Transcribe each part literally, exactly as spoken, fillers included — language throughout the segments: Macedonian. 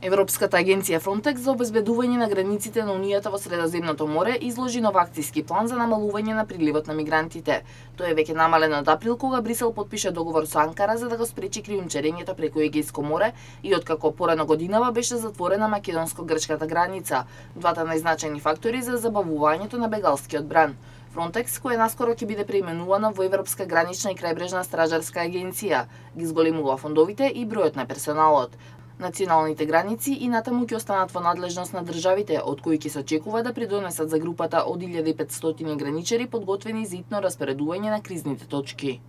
Европската агенција Frontex за обезбедување на границите на Унијата во Средоземното море изложи нов акциски план за намалување на приливот на мигрантите. Тој е веќе намален од април кога Брисел потпише договор со Анкара за да го спречи криумчарењето преку Егејско море и откако порано годинава беше затворена македонско-грчката граница, двата најзначајни фактори за забавувањето на бегалскиот бран. Frontex, која наскоро ќе биде преименувана во Европска гранична и крајбрежна стражарска агенција, ги зголемува фондовите и бројот на персоналот. Националните граници и натаму ќе останат во надлежност на државите, од кои ќе се очекува да придонесат за групата од илјада и петстотини граничари подготвени за итно распоредување на кризните точки.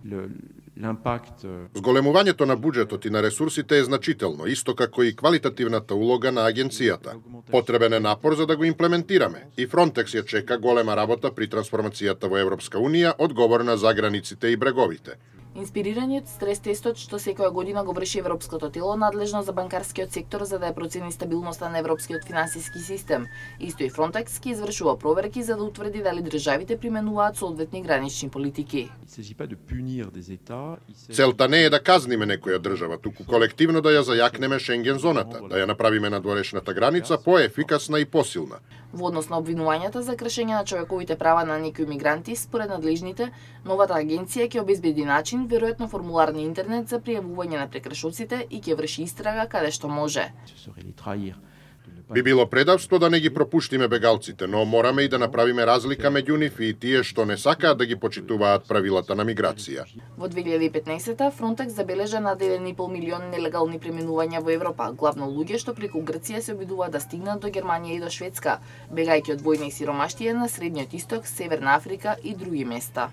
Зголемувањето на буџетот и на ресурсите е значително, исто како и квалитативната улога на агенцијата. Потребен е напор за да го имплементираме и Frontex ја чека голема работа при трансформацијата во Европска Унија, одговорна за границите и бреговите. Инспирираниот стрес тестот што секоја година го врши Европското тело надлежно за банкарскиот сектор за да ја процени стабилноста на европскиот финансиски систем. Исто и Frontex ќе извршува проверки за да утврди дали државите применуваат соодветни гранични политики. Целта не е да казниме некоја држава, туку колективно да ја зајакнеме Шенген зоната, да ја направиме надворешната граница поефикасна и посилна. Во однос на обвинувањата за кршење на човековите права на некои мигранти, според надлежните, новата агенција ќе обезбеди начин, веројатно формулар на интернет за пријавување на прекршоците и ќе врши истрага каде што може. Би било предавство да не ги пропуштиме бегалците, но мораме и да направиме разлика меѓу нив и тие што не сакаат да ги почитуваат правилата на миграција. Во две илјади и петнаесета Frontex забележа над еден и пол милион нелегални преминувања во Европа, главно луѓе што преку Грција се обидуваат да стигнат до Германија и до Шведска, бегајќи од војна и сиромаштија на Средниот Исток, Северна Африка и други места.